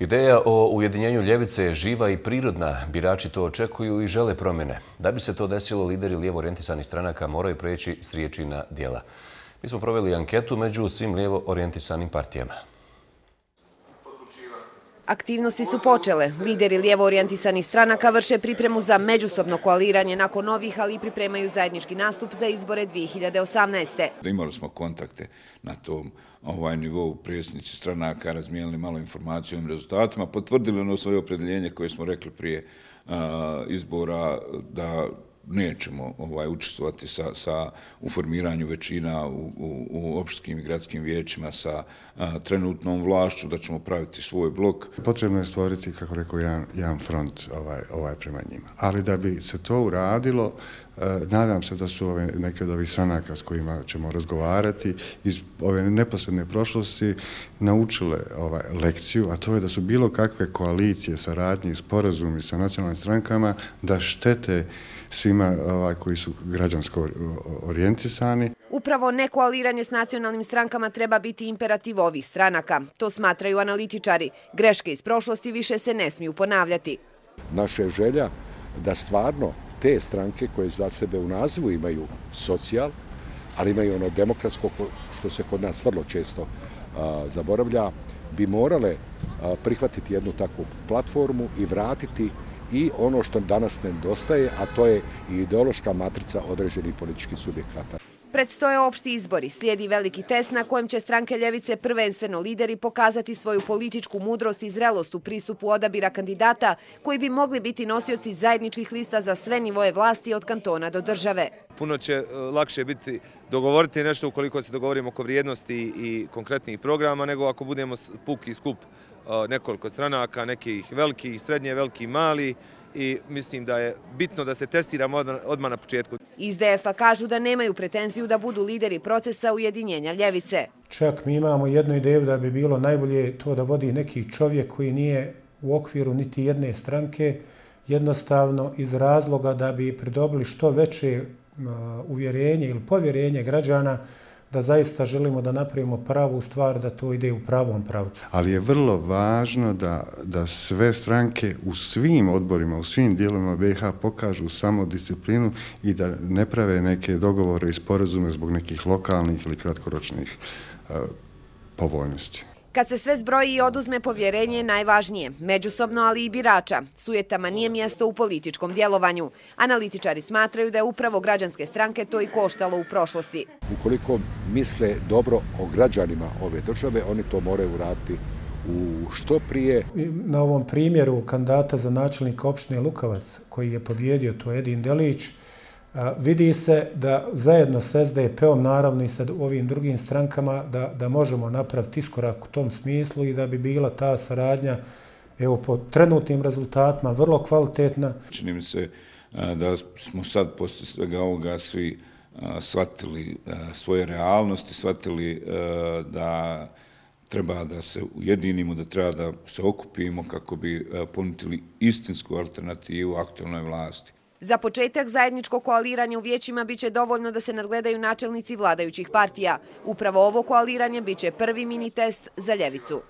Ideja o ujedinjenju ljevice je živa i prirodna. Birači to očekuju i žele promjene. Da bi se to desilo, lideri lijevo orijentisanih stranaka moraju preći s riječi na djela. Mi smo proveli anketu među svim lijevo orijentisanim partijama. Aktivnosti su počele. Lideri lijevo orijentisanih stranaka vrše pripremu za međusobno koaliranje nakon ovih, ali i pripremaju zajednički nastup za izbore 2018. Imali smo kontakte na tom nivou, predsjednici stranaka razmijenili malo informaciju o rezultatima, potvrdili ono svoje opredjeljenje koje smo rekli prije izbora da nećemo učestvovati u formiranju većina u opštinskim i gradskim vijećima sa trenutnom vlašću, da ćemo praviti svoj blok. Potrebno je stvoriti, kako rekao, jedan front prema njima. Ali da bi se to uradilo, nadam se da su neke od ovih stranaka s kojima ćemo razgovarati iz ove neposredne prošlosti naučile lekciju, a to je da su bilo kakve koalicije, saradnje i sporazumi sa nacionalnim strankama da štete svima koji su građansko orijentisani. Upravo nekoaliranje s nacionalnim strankama treba biti imperativ ovih stranaka. To smatraju analitičari. Greške iz prošlosti više se ne smiju ponavljati. Naša je želja da stvarno te stranke koje za sebe u nazivu imaju socijal, ali imaju ono demokratsko, što se kod nas vrlo često zaboravlja, bi morale prihvatiti jednu takvu platformu i vratiti i ono što danas nedostaje, a to je i ideološka matrica određenih političkih subjekata. Predstoje opšti izbori. Slijedi veliki test na kojem će stranke ljevice, prvenstveno lideri, pokazati svoju političku mudrost i zrelost u pristupu odabira kandidata koji bi mogli biti nosioci zajedničkih lista za sve nivoje vlasti od kantona do države. Puno će lakše biti dogovoriti nešto ukoliko se dogovorimo oko vrijednosti i konkretnih programa, nego ako budemo puki skup nekoliko stranaka, nekih velikih, srednje, veliki, mali, i mislim da je bitno da se testiramo odmah na početku. Iz DF-a kažu da nemaju pretenziju da budu lideri procesa ujedinjenja ljevice. Čak mi imamo jednu ideju da bi bilo najbolje to da vodi neki čovjek koji nije u okviru niti jedne stranke, jednostavno iz razloga da bi pridobili što veće uvjerenje ili povjerenje građana da zaista želimo da napravimo pravu stvar, da to ide u pravom pravcu. Ali je vrlo važno da sve stranke u svim odborima, u svim dijelovima BiH pokažu samodisciplinu i da ne prave neke dogovore i sporazume zbog nekih lokalnih ili kratkoročnih povoljnosti. Kad se sve zbroji i oduzme, povjerenje je najvažnije, međusobno, ali i birača. Sujetama nije mjesto u političkom djelovanju. Analitičari smatraju da je upravo građanske stranke to i koštalo u prošlosti. Ukoliko misle dobro o građanima ove države, oni to moraju uraditi u što prije. Na ovom primjeru kandidata za načelnika opštine Lukovac, koji je pobjedio, to je Edin Delić, vidi se da zajedno s SDP-om, naravno i sa ovim drugim strankama, da možemo napraviti iskorak u tom smislu i da bi bila ta saradnja, evo, po trenutnim rezultatima vrlo kvalitetna. Čini mi se da smo sad poslije svega ovoga svi shvatili svoje realnosti, shvatili da treba da se ujedinimo, da treba da se okupimo kako bi ponudili istinsku alternativu aktualnoj vlasti. Za početak zajedničko koaliranje u vijećima biće dovoljno da se nadgledaju načelnici vladajućih partija. Upravo ovo koaliranje biće prvi mini test za ljevicu.